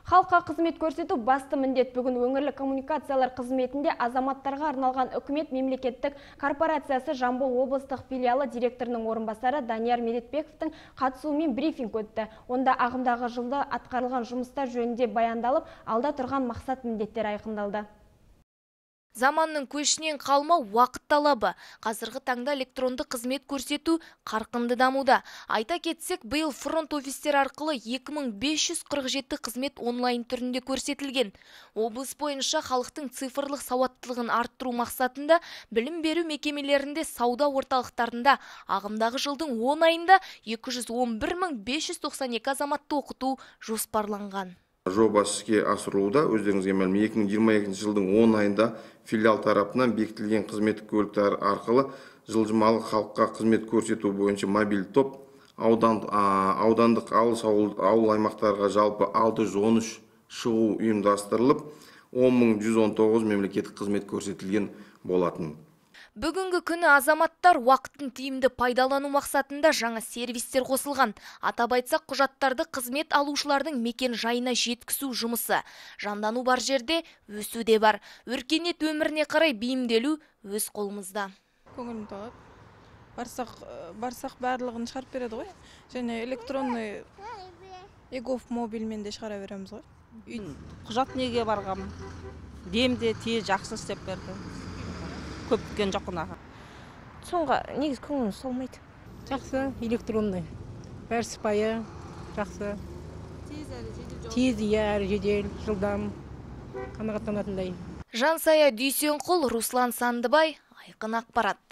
Халыққа қызмет көрсету басты міндет. Бүгін өңірлік коммуникациялар қызметінде азаматтарға арналған үкімет мемлекеттік корпорациясы Жамбыл облыстық филиалы директорының орынбасары Данияр Медетбековтің қатысуымен брифинг өтті. Онда ағымдағы жылда атқарылған жұмыстар жөнінде баяндалып, алда тұрған мақсат міндеттер айқындалды. Заманның көшінен қалмау уақыт талабы. Қазіргі таңда электронды қызмет көрсету қарқынды дамуда. Айта кетсек, биыл фронт офистер арқылы 2547 қызмет онлайн түрінде көрсетілген. Облыс бойынша халықтың цифрлық сауаттылығын арттыру мақсатында білім беру мекемелерінде, сауда орталықтарында ағымдағы жылдың 10 айында 211.592 азаматты оқыту жоспарланған. Жобасы іске асырылуда. Өздеріңізге мәлім, 2022 жылдың 10 айында филиал тарапынан бекітілген қызметтік көліктер арқылы жылжымалы халыққа қызмет көрсету бойынша мобиль топ аудандық ауыл аймақтарға жалпы 613 шығу ұйымдастырылып, 10.119 мемлекеттік қызмет көрсетілген болатын. Бүгінгі күні азаматтар уақытын тиімді пайдалану мақсатында жаңа сервистер қосылған. Атап айтсақ, құжаттарды қызмет алушылардың мекен жайына жеткізу жұмысы. Жандану бар жерде өсу де бар. Өркениет өміріне қарай бейімделу өз қолымызда. Көңілім тағып. Барсақ барлығын шығарып береді ғой. Және электронный эгов мобильмен де шығара береміз ғой. Құжат неге барғам? Демде тез жақсы істеп берді. Көп күткен жоқ қынаға. Соңға негіз көңілім солмайды. Жақсы, электронный. Бәрі сыпайы, жақсы. Тез, әрі жедел, жылдам, қанағаттанатындай. Жансая Дүйсенқұл, Руслан Сандыбай, Айқын ақпарат.